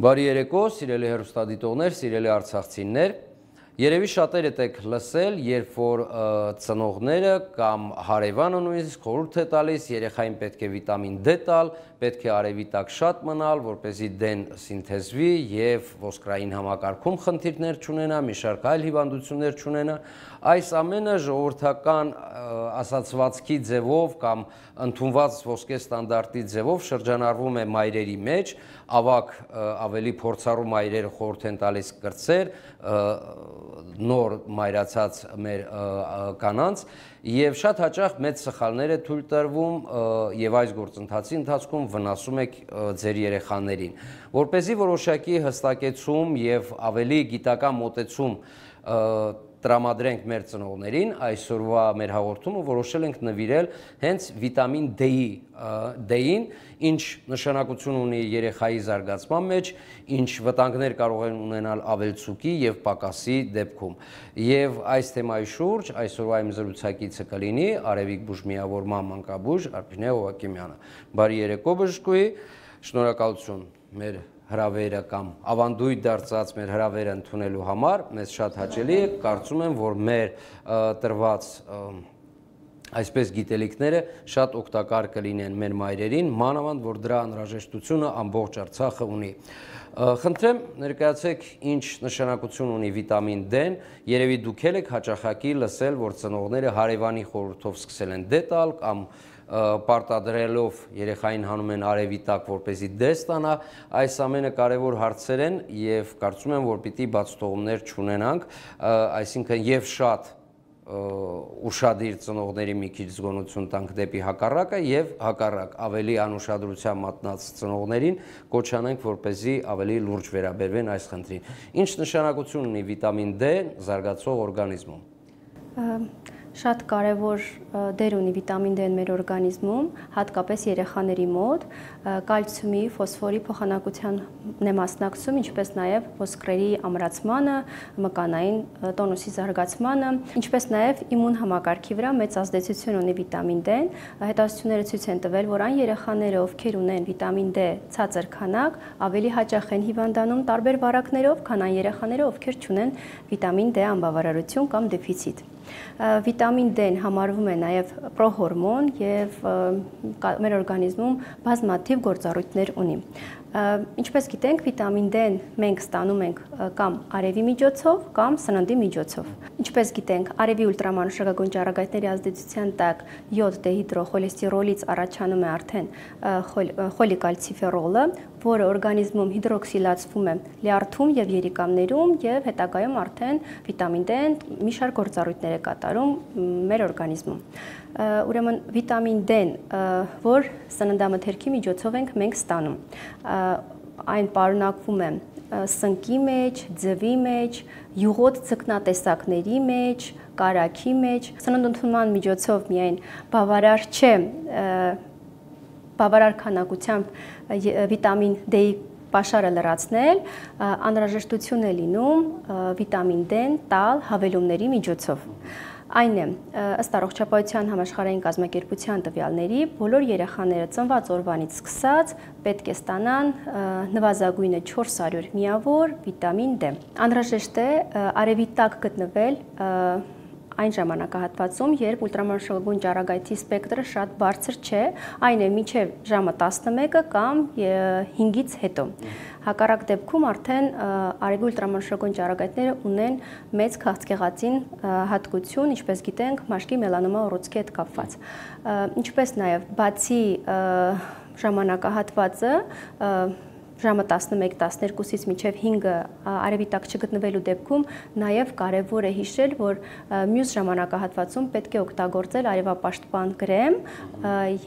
Բարի երեկո, սիրելի հեռուստադիտողներ, սիրելի արցախցիներ, երևի շատերդ եք լսել, երբ որ ծնողները կամ հարևանը նույնիսկ խորհուրդ է տալիս, երեխային պետք է վիտամին D տալ, պետք է արևի տակ շատ մնալ, որպեսզի D-ն սինթեզվի եւ ոսկրային համակարգում խնդիրներ չունենա, մի շարք այլ հիվանդություններ չունենա, այս ամենը ժողովրդական ասացվածքի ձևով կամ ընդունված ոսկե ստանդարտի ձևով շրջանառվում է մայրերի մեջ, ավագ ավելի փորձառու մայրերը խորհուրդ են տալիս կրտսեր, նոր մայրացած մեր կանանց եւ շատ հաճախ մեծ սխալներ է թույլ տրվում եւ այս գործընթացի ընթացքում վնասում եք ձեր երեխաներին, որպեսզի որոշակի հստակեցում եւ ավելի գիտական մոտեցում տրամադրենք մեր ծնողներին, այսօրվա մեր հաղորդումը որոշել ենք նվիրել հենց վիտամին D-ին, ինչ նշանակություն ունի երեխայի զարգացման մեջ, ինչ վտանգներ կարող են ունենալ ավելցուկի եւ պակասի դեպքում։ Եվ այս թեմայի շուրջ այսօրվա իմ զրուցակիցը կլինի Արևիկ բուժմիավորման մանկաբույժ Արփինե Հովակիմյանը։ Բարի երեկո բժշկուհի, շնորհակալություն մեր հրավերը կամ ավանդույթ դարձած մեր հրավերը ընդունելու համար, մեզ շատ հաճելի է, կարծում եմ, որ մեր տրված այսպես գիտելիքները շատ օգտակար կլինեն մեր մայրերին, մանավանդ, որ դրա անհրաժեշտությունը ամբողջ Արցախը ունի։ Խնդրեմ, ներկայացեք ինչ նշանակություն ունի վիտամին D-ն, երևի դուք եք հաճախակի լսել, որ ծնողները հարևանի խորհրդով սկսել են D տալ կամ պարտադրելով երեխային հանում են արևի տակ, որպեսզի D ստանա, այս ամենը կարևոր հարցեր են եւ կարծում եմ, որ պիտի բացթողումներ չունենանք, այսինքն եւ շատ ուշադիր ծնողների մի քիչ զգոնություն տանք դեպի հակառակը եւ հակառակ ավելի անուշադրության մատնած ծնողներին կոչանենք, որպեսզի ավելի լուրջ վերաբերվեն այս խնդրին։ Ինչ նշանակություն ունի վիտամին D զարգացող օրգանիզմում։ Շատ կարևոր դեր ունի վիտամին D-ն մեր օրգանիզմում, հատկապես երեխաների մոտ, կալցիումի, ֆոսֆորի փոխանակությանն է մասնակցում, ինչպես նաև ոսկրերի ամրացմանը, մկանային տոնուսի զարգացմանը, ինչպես նաև իմուն համակարգի վրա մեծ ազդեցություն ունի վիտամին D-ն։ Հետազոտությունները ցույց են տվել, որ այն երեխաները, ովքեր ունեն վիտամին D ցածր քանակ, ավելի հաճախ են հիվանդանում տարբեր վարակներով, քան այն երեխաները, ովքեր չունեն վիտամին D անբավարարություն կամ դեֆիցիտ։ Վիտամին D-ն համարվում է նաև պրոհորմոն եւ մեր օրգանիզմում բազմաթիվ գործառույթներ ունի։ Ինչպես գիտենք, վիտամին D-ն մենք ստանում ենք կամ արևի միջոցով, կամ սննդի միջոցով։ Ինչպես գիտենք, արևի ուլտրամանուշակագույն ճառագայթների ազդեցության տակ յոդ դեհիդրոխոլեստերոլից առաջանում է արդեն խոլիկալցիֆերոլը, որը օրգանիզմում հիդրոքսիլացվում է լյարդում եւ երիկամներում եւ հետագայում արդեն վիտամին D-ն մի շարք գործառույթներ է կատարում մեր օրգանիզմում։ Ուրեմն վիտամին D-ն, որ սննդամթերքի միջոցով ենք մենք ստանում, այն պարունակվում է սնկի մեջ, ձվի մեջ, յուղոտ ձկնատեսակների մեջ, կարագի մեջ, սննդընդունման միջոցով միայն բավարար չէ բավարար քանակությամբ վիտամին D-ի պաշարը լրացնել, անհրաժեշտություն է լինում վիտամին D-ն տալ հավելումների միջոցով։ Այն է, ըստ Առողջապահության համաշխարհային կազմակերպության տվյալների, բոլոր երեխաները ծնված օրվանից սկսած պետք է ստանան նվազագույնը 400 միավոր վիտամին D։ Անհրաժեշտ է արևի տակ գտնվել այն ժամանակահատվածում, երբ ուլտրամանուշակագույն ճառագայթի սպեկտրը շատ բարձր չէ, այն է մինչև ժամը 11-ը կամ 5-ից հետո։ Հակառակ դեպքում արդեն արևի ուլտրամանուշակագույն ճառագայթները ունեն մեծ քաղցկեղածին հատկություն, ինչպես գիտենք, մաշկի մելանոմա ուռուցքի հետ կապված։ Ինչպես նաև բացի ժամանակահատվածը ժամը 11-12-ից մինչև 5-ը արևի տակ չգտնվելու դեպքում նաև կարևոր է հիշել, որ մյուս ժամանակահատվածում պետք է օգտագործել արևապաշտպան կրեմ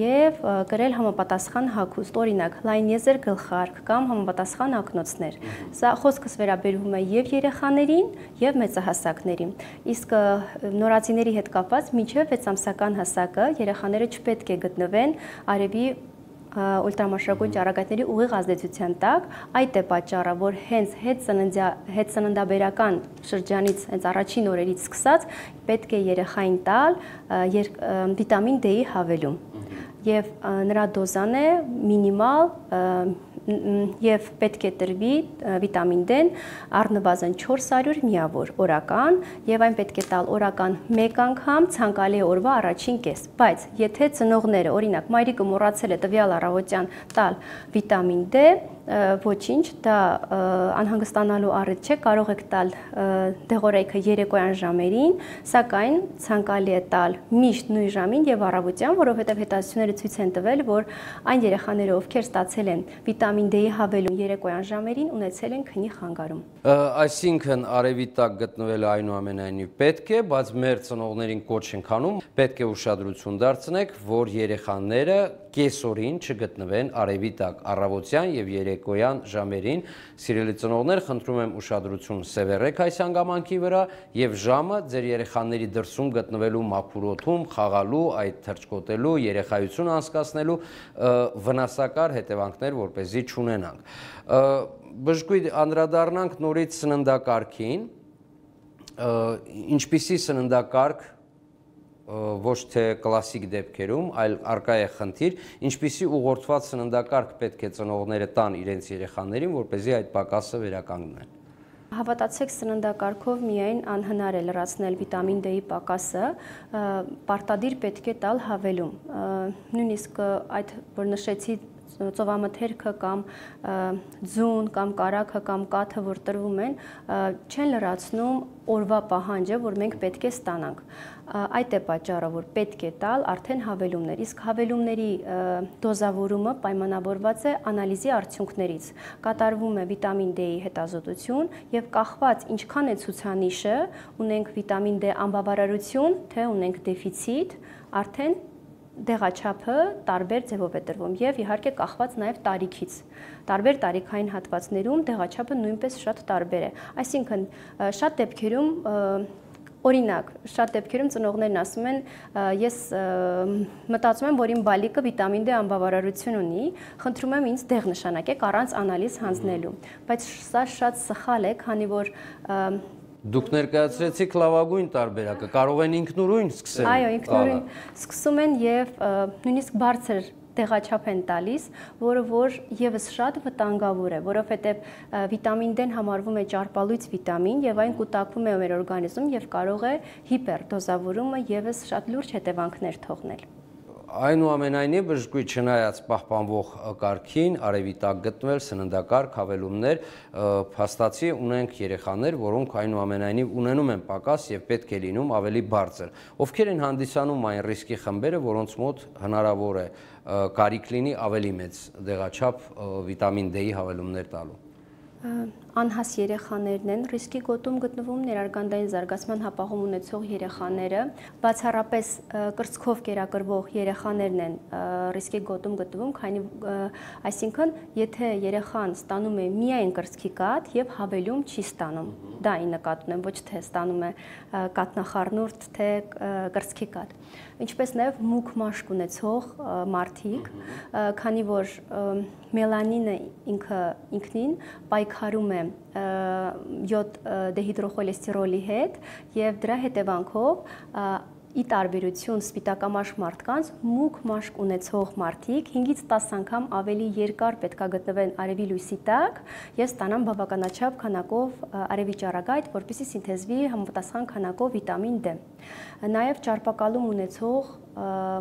եւ կրել համապատասխան հագուստ, օրինակ լայնեզր գլխարկ կամ համապատասխան ակնոցներ։ Սա խոսքս վերաբերվում է եւ երեխաներին եւ մեծահասակներին։ Իսկ նորածիների հետ կապված մինչև 6 ամսական հասակը երեխաները չպետք է գտնվեն արևի ուլտրամանուշակագույն ճառագայթների ուղիղ ազդեցության տակ, այդ է պատճառը, որ հենց հետծննդաբերական շրջանից, հենց առաջին օրերից սկսած, պետք է երեխային տալ վիտամին D-ի հավելում։ Եվ նրա դոզան է մինիմալ եւ պետք է տրվի վիտամին D-ն առնվազն 400 միավոր օրական եւ այն պետք է տալ օրական 1 անգամ, ցանկալի է օրվա առաջին կես։ Բայց եթե ծնողները, օրինակ, մայրիկը մոռացել է տվյալ առավոտյան տալ վիտամին D, ոչինչ, դա անհանգստանալու առիթ չէ, կարող եք տալ դեղորայքը երեկոյան ժամերին, սակայն ցանկալի է տալ միշտ նույն ժամին եւ առավոտյան, որովհետեւ հետազոտությունները ցույց են տվել, որ այն երեխաները, ովքեր ստացել են վիտամին D-ի հավելում երեկոյան ժամերին, ունեցել են քնի խանգարում։ Այսինքն արևի տակ գտնվելը այնուամենայնիվ պետք է, բայց մեր ծնողներին կոչ ենք անում, պետք է ուշադրություն դարձնեք, որ երեխաները կեսօրին չգտնվեն արևի տակ առավոտյան եւ երեկոյան ժամերին։ Սիրելի ծնողներ, խնդրում եմ ուշադրություն սևեռեք այս հանգամանքի վրա եւ ժամը ձեր երեխաների դրսում գտնվելու մաքուր օդում խաղալու, այդ թռչկոտելու, երեխայություն անցկացնելու վնասակար հետևանքներ որպեսզի չունենանք։ Բժշկույն անդրադառնանք նորից սննդակարգին, ինչպիսի սննդակարգ ոչ թե կլասիկ դեպքերում, այլ առկա է խնդիր, ինչպիսի ուղղորդված սննդակարգ պետք է ծնողները տան իրենց երեխաներին, որպեսզի այդ պակասը վերականգնեն։ Հավատացեք, սննդակարգով միայն անհնար է լրացնել վիտամին D-ի պակասը, պարտադիր պետք է տալ հավելում։ Նույնիսկ այդ, որ նշեցի, ծովամթերքը կամ ձուն կամ կարագը կամ կաթը, որ տրվում են, չեն լրացնում օրվա պահանջը, որ մենք պետք է ստանանք։ Այդ է պատճառը, որ պետք է տալ արդեն հավելումներ, իսկ հավելումների դոզավորումը պայմանավորված է անալիզի արդյունքներից։ Կատարվում է վիտամին D-ի հետազոտություն եւ կախված ինչքան է ցուցանիշը, ունենք վիտամին D անբավարարություն, թե ունենք դեֆիցիտ, արդեն դեղաչափը տարբեր ձևով է տրվում եւ իհարկե կախված նաեւ տարիքից։ Տարբեր տարիքային հատվածներում դեղաչափը նույնպես շատ տարբեր է։ Այսինքն շատ դեպքերում օրինակ, շատ դեպքերում ծնողներն ասում են, ես մտածում եմ, որ իմ բալիկը վիտամին D անբավարարություն ունի, խնդրում եմ ինձ դեղ նշանակեք առանց անալիզ հանձնելու։ Բայց սա շատ սխալ է, քանի որ Դուք ներկայացրեցիք լավագույն տարբերակը, կարող են ինքնուրույն սկսել։ Այո, ինքնուրույն սկսում են եւ նույնիսկ բարձր դեղաչափ են տալիս, որը որ եւս շատ վտանգավոր է, որովհետեւ վիտամին D-ն համարվում է ճարպալույծ վիտամին եւ այն կուտակվում է մեր օրգանիզմում եւ կարող է հիպերդոզավորումը եւս շատ լուրջ հետևանքներ թողնել։ Այնուամենայնիվ բժշկույն չնայած պահպանվող կարգին, արևի տակ գտնվել սննդակարգ հավելումներ, փաստացի ունենք երեխաներ, որոնք այնուամենայնիվ ունենում են պակաս եւ պետք է լինում ավելի բարձր։ Ովքեր են հանդիսանում այն ռիսկի խմբերը, որոնց մոտ հնարավոր է կարիք լինի ավելի մեծ դեղաչափ վիտամին D-ի հավելումներ տալու։ Անհաս երեխաներն են ռիսկի գոտում գտնվում, ներարգանդային զարգացման հապաղում ունեցող երեխաները, բացառապես կրծքով կերակրվող երեխաներն են ռիսկի գոտում գտնվում, քանի այսինքն եթե երեխան ստանում է միայն կրծքի կաթ եւ հավելում չի ստանում, դա ի նկատի ունեմ, ոչ թե ստանում է կաթնախառնուրդ, թե կրծքի կաթ։ Ինչպես նաև մուգ մաշկ ունեցող մարդիկ, քանի որ մելանինը ինքնին պայքարում է յոդ դեհիդրոխոլեստերոլի հետ եւ դրա հետևանքով ի տարբերություն սպիտակամաշկ մարդկանց մուգ մաշկ ունեցող մարդիկ 5-ից 10 անգամ ավելի երկար պետքա գտնվեն արևի լույսի տակ եւ ստանան բավականաչափ քանակով արևի ճառագայթ, որպեսզի սինթեզվի համապատասխան քանակով վիտամին D։ Նաեւ ճարպակալում ունեցող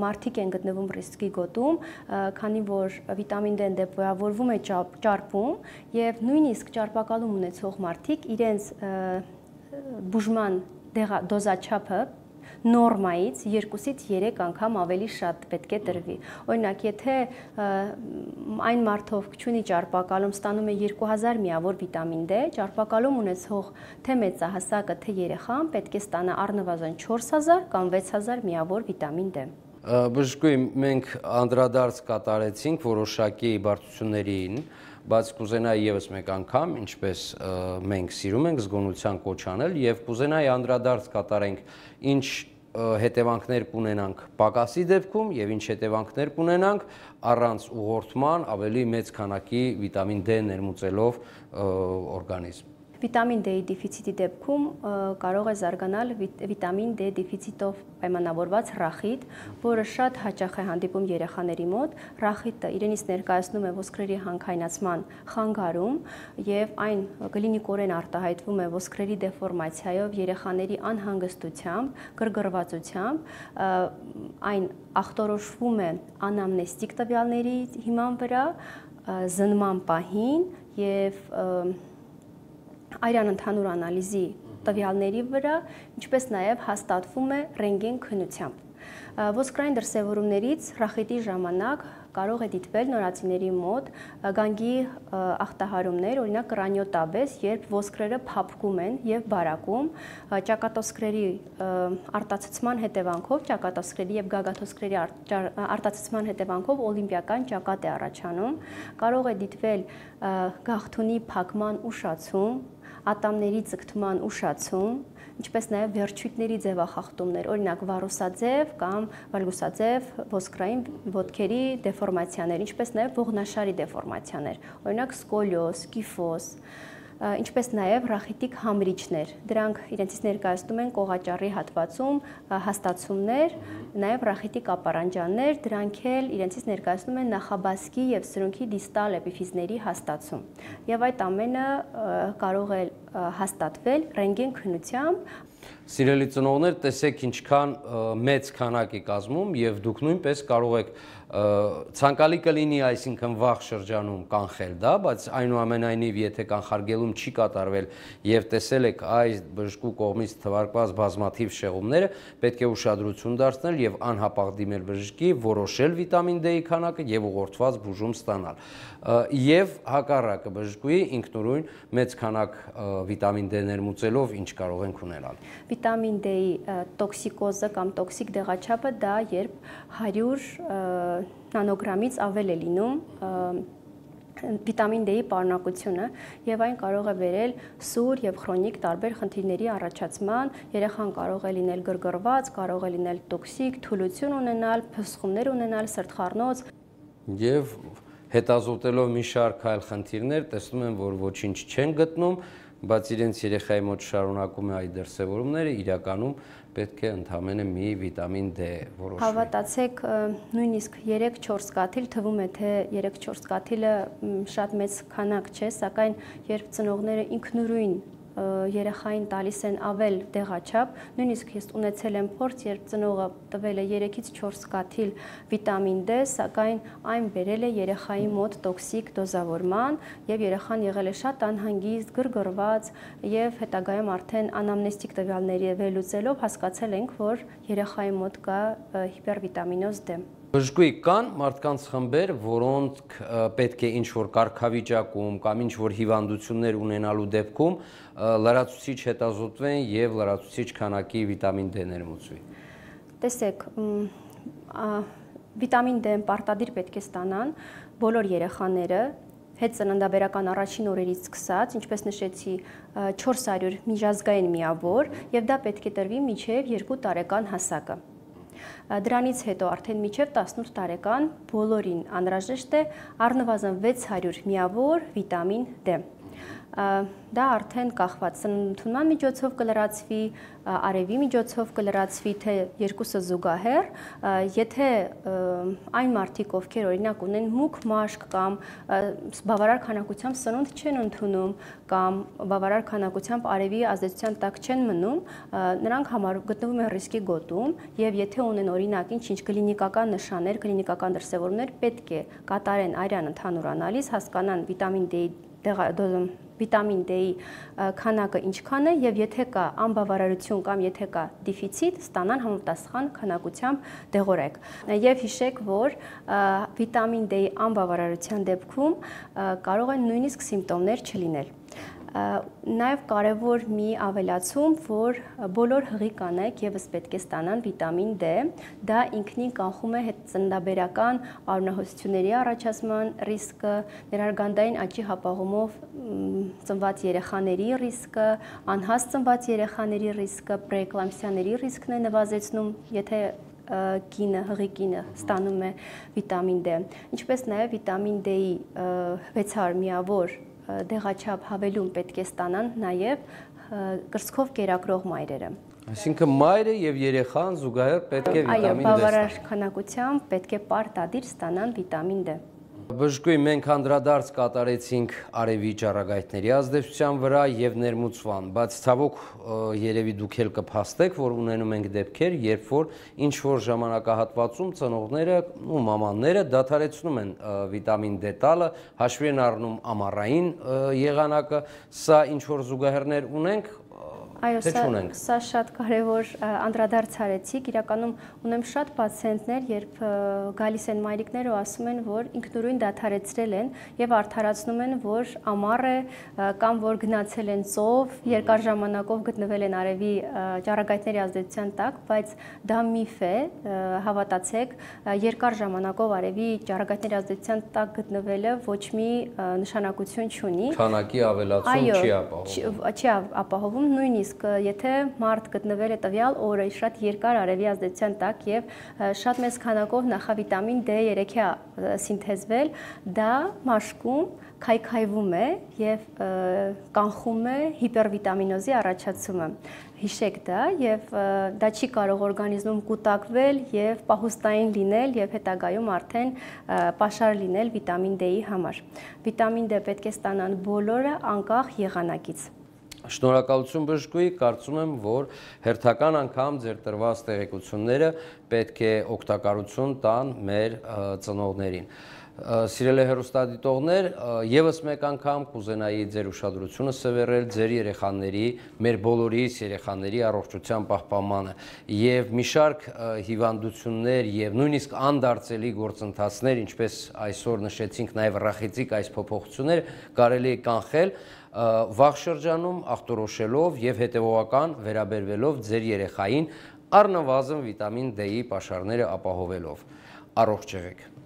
մարդիկ են գտնվում ռիսկի գոտում, քանի որ վիտամին D-ն դեպոյավորվում է ճարպում եւ նույնիսկ ճարպակալում ունեցող մարդիկ իրենց բուժման դոզաչափը նորմայից 2-ից 3 անգամ ավելի շատ պետք է տրվի։ Օրինակ, եթե այն մարդով չունի ճարպակալում, ստանում է 2000 միավոր վիտամին D, ճարպակալում ունեցող թե մեծահասակը, թե երեխան պետք է ստանա առնվազն 4000 կամ 6000 միավոր վիտամին D։ Բժշկուհի, մենք անդրադարձ կատարեցինք որոշակի բարդություններին, բայց կուզենայի եւս մեկ անգամ, ինչպես մենք սիրում ենք զգոնության կոչ անել եւ կուզենայի անդրադարձ կատարենք ինչ հետևանքներ կունենանք պակասի դեպքում եւ ինչ հետևանքներ կունենանք առանց ուղղորդման ավելի մեծ քանակի վիտամին D ներմուծելով օրգանիզմ։ Վիտամին D-ի դեֆիցիտի դեպքում կարող է զարգանալ վիտամին D դեֆիցիտով պայմանավորված ռախիտ, որը շատ հաճախ է հանդիպում երեխաների մոտ։ Ռախիտը իրենից ներկայացնում է ոսկրերի հանքայնացման խանգարում եւ այն կլինիկորեն արտահայտվում է ոսկրերի դեֆորմացիայով, երեխաների անհանգստությամբ, գրգռվածությամբ, այն ախտորոշվում է անամնեստիկ տվյալների հիման վրա, զննման պահին եւ արյան ընդհանուր անալիզի տվյալների վրա, ինչպես նաև հաստատվում է ռենտգեն քննությամբ։ Ոսկրային դրսևորումներից ռախիտի ժամանակ կարող է դիտվել նորածինների մոտ գանգի ախտահարումներ, օրինակ կրանիոտաբես, երբ ոսկրերը փափկում են եւ բարակում, ճակատոսկրերի արտացծման հետևանքով, ճակատոսկրերի եւ գագաթոսկրերի արտացծման հետևանքով օլիմպիական ճակատ է առաջանում, կարող է դիտվել գաղթունի փակման ուշացում, ատամների ձգտման ուշացում, ինչպես նաև վերջույթների ձևախախտումներ, օրինակ վարուսաձև կամ վալգուսաձև ոսկրային ոտքերի դեֆորմացիաներ, ինչպես նաև ողնաշարի դեֆորմացիաներ, օրինակ սկոլիոզ, կիֆոզ, ինչպես նաև ռախիտիկ համրիչներ։ Դրանք իրենցից ներկայացնում են կողաճառի հատվածում հաստացումներ, նաև ռախիտիկ ապարանջաններ, դրանք էլ իրենցից ներկայացնում են նախաբասկի եւ սրունքի դիստալ էպիֆիզների հաստացում։ Եվ այդ ամենը կարող է հաստատվել ռենտգեն քննությամբ։ Սիրելի ծնողներ, տեսեք ինչքան մեծ քանակ է կազմում եւ դուք նույնպես կարող եք ցանկալի կլինի, այսինքն վաղ շրջանում կանխել դա, բայց այնուամենայնիվ եթե կանխարգելում չի կատարվել եւ տեսել եք այս բժշկու կողմից թվարկված բազմաթիվ շեղումները, պետք է ուշադրություն դարձնել եւ անհապաղ դիմել բժշկի, որոշել վիտամին D-ի քանակը եւ ուղղորդված բուժում ստանալ։ Եվ հակառակը բժշկուի ինքնուրույն մեծ քանակ վիտամին D ներմուծելով ինչ կարող ենք ունենալ։ Վիտամին D-ի տոքսիկոզը կամ տոքսիկ դեղաչափը դա երբ 100 նանոգրամից ավել է լինում վիտամին D-ի պարունակությունը եւ այն կարող է բերել սուր եւ քրոնիկ տարբեր խնդիրների առաջացման, երեխան կարող է լինել գրգռված, կարող է լինել տոքսիկ, թուլություն ունենալ, փսխումներ ունենալ, սրտխառնոց եւ հետազոտելով մի շարք այլ խնդիրներ, տեսնում են, որ ոչինչ չեն գտնում, բայց իրենց երեխայի մոտ շարունակում է այդ դրսևորումները, իրականում պետք է ընդամենը մի վիտամին D որոշվի։ Հավատացեք, նույնիսկ 3-4 կաթիլ թվում է, թե 3-4 կաթիլը շատ մեծ քանակ չէ, սակայն երբ ծնողները ինքնուրույն երեխային տալիս են ավել դեղաչափ, նույնիսկ ես ունեցել եմ փորձ, երբ ծնողը տվել է 3-ից 4 կաթիլ վիտամին D, սակայն այն բերել է երեխայի մոտ տոքսիկ դոզավորման եւ երեխան եղել է շատ անհանգիստ, գրգռված եւ հետագայում արդեն անամնեստիկ տվյալների վերլուծելով հասկացել ենք, որ երեխայի մոտ կա հիպերվիտամինոզ D։ Բժշկուի կան մարդկանց խմբեր, որոնք պետք է ինչ-որ կարգավիճակում կամ ինչ-որ հիվանդություններ ունենալու դեպքում լրացուցիչ հետազոտվեն եւ լրացուցիչ քանակի վիտամին D ներմուծվի։ Տեսեք, վիտամին D-ն պարտադիր պետք է ստանան բոլոր երեխաները, հետծննդաբերական առաջին օրերից սկսած, ինչպես նշեցի, 400 միջազգային միավոր եւ դա պետք է տրվի մինչեւ 2 տարեկան հասակը։ Դրանից հետո արդեն մինչև 18 տարեկան բոլորին անհրաժեշտ է առնվազն 600 միավոր վիտամին D։ Դա արդեն կախված սննդության միջոցով կլրացվի, արևի միջոցով կլրացվի, թե երկուսը զուգահեռ, եթե այն մարդիկ, ովքեր օրինակ ունեն մուգ մաշկ կամ բավարար քանակությամբ սնունդ չեն ընդունում կամ բավարար քանակությամբ արևի ազդեցության տակ չեն մնում, նրանք գտնվում են ռիսկի գոտում եւ եթե ունեն օրինակ ինչ-ինչ կլինիկական նշաններ, կլինիկական դրսևորումներ, պետք է կատարեն արյան ընդհանուր անալիզ, հասկանան վիտամին D-ի քանակը ինչքան է եւ եթե կա անբավարարություն կամ եթե կա դեֆիցիտ, ստանան համապատասխան քանակությամբ դեղորայք։ Եվ հիշեք, որ վիտամին D-ի անբավարարության դեպքում կարող են նույնիսկ սիմպտոմներ չլինել։ Նաև կարևոր մի ավելացում, որ բոլոր հղի կանայք եւս պետք է ստանան վիտամին D, դա ինքնին կանխում է հետծննդաբերական արյունահոսությունների առաջացման ռիսկը, ներարգանդային աճի հապաղումով ծնված երեխաների ռիսկը, անհաս ծնված երեխաների ռիսկը, պրեէկլամպսիաների ռիսկն է նվազեցնում, եթե հղի կինը ստանում է վիտամին D, ինչպես նաև վիտամին D-ի 600 միավոր դեղաչափ հավելում պետք է ստանան նաև կրծքով կերակրող մայրերը։ Այսինքն մայրը եւ երեխան զուգահեռ պետք է վիտամին D այո, բավարար քանակությամբ պետք է պարտադիր ստանան վիտամին D։ Բժշկուհի, մենք անդրադարձ կատարեցինք արևի ճառագայթների ազդեցության վրա եւ ներմուծման, բայց ցավոք երևի դուք էլ կփաստեք, որ ունենում ենք դեպքեր, երբ որ ինչ որ ժամանակահատվածում ծնողները ու մամանները դադարեցնում են վիտամին D տալը, հաշվի են առնում ամառային եղանակը, սա ինչ որ զուգահեռներ ունենք։ Այո, սա շատ կարևոր անդրադարձ արեցիք, իրականում ունեմ շատ պացիենտներ, երբ գալիս են մայրիկները ու ասում են, որ ինքնուրույն դադարեցրել են եւ արդարացնում են, որ ամառ է կամ որ գնացել են ծով, երկար ժամանակով գտնվել են արևի ճառագայթների ազդեցության տակ, բայց դա միֆ է, հավատացեք, երկար ժամանակով արևի ճառագայթների ազդեցության տակ գտնվելը ոչ մի նշանակություն չունի։ Քանակի ավելացում չի ապահովում։ Չի ապահովում, նույնիսկ եթե մարդ գտնվել է տվյալ օրը շատ երկար արևի ազդեցության տակ եւ շատ մեծ քանակով նախավիտամին D3 է սինթեզվել, դա մաշկում քայքայվում է եւ կանխում է հիպերվիտամինոզի առաջացումը։ Հիշեք դա եւ դա չի կարող օրգանիզմում կուտակվել եւ պահուստային լինել եւ հետագայում արդեն պաշար լինել վիտամին D-ի համար։ Վիտամին D պետք է ստանան բոլորը անկախ եղանակից։ Շնորհակալություն բժշկուհի, կարծում եմ, որ հերթական անգամ ձեր տրված տեղեկությունները պետք է օգտակարություն տան մեր ծնողներին։ Սիրելի հեռուստադիտողներ, եւս մեկ անգամ կուզենայի ձեր ուշադրությունը սևեռել ձեր երեխաների, մեր բոլորիս երեխաների առողջության պահպանմանը եւ մի շարք հիվանդություններ եւ նույնիսկ անդարձելի գործընթացներ, ինչպես այսօր նշեցինք, նաեւ ռախիցիկ այս փոփոխություններ կարելի է կանխել վաղ շրջանում ախտորոշելով եւ հետեւողական վերաբերվելով ձեր երեխային առնվազն վիտամին D-ի պաշարները ապահովելով։ Առողջ եղեք։